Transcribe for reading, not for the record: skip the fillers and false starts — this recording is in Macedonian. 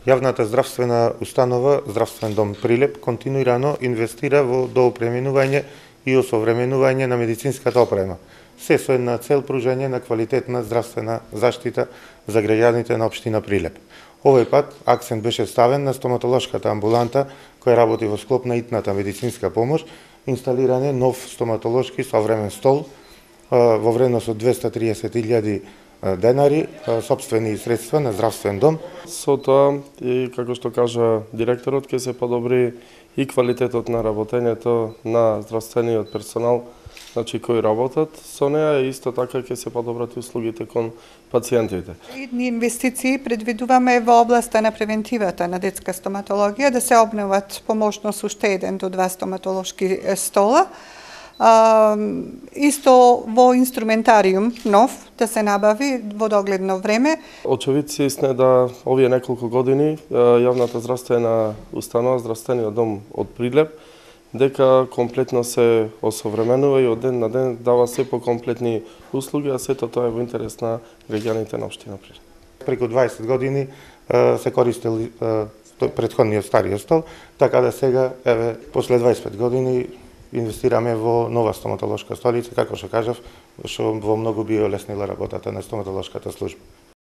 Јавната здравствена установа Здравствен дом Прилеп континуирано инвестира во доопременување и осовременување на медицинската опрема, се со една цел пружање на квалитетна здравствена заштита за граѓаните на општина Прилеп. Овој пат акцент беше ставен на стоматолошката амбуланта која работи во склоп на итната медицинска помош, инсталиране нов стоматолошки современ стол во вредност од 230.000 денари, сопствени средства на Здравствен дом. Со тоа, и како што кажа директорот, ќе се подобри и квалитетот на работењето на здравствениот персонал, значи кои работат со неа, и исто така ќе се подобрат и услугите кон пациентите. Идни инвестиции предвидуваме во областа на превентивата на детска стоматологија, да се обноват по можност уште 1 до 2 стоматолошки стола. Исто во инструментариум нов да се набави во догледно време. Очевидци се истина да овие неколку години јавната здравствена установа, Здравствениот дом од Прилеп, дека комплетно се осовременува и од ден на ден дава се покомплетни услуги, а сето тоа е во интерес на граѓаните на општина Прилеп. Преку 20 години се користел претходниот стариот стол, така да сега, еве, после 25 години инвестираме во нова стоматолошка столица, како што кажав, што во многу би олеснила работата на стоматолошката служба.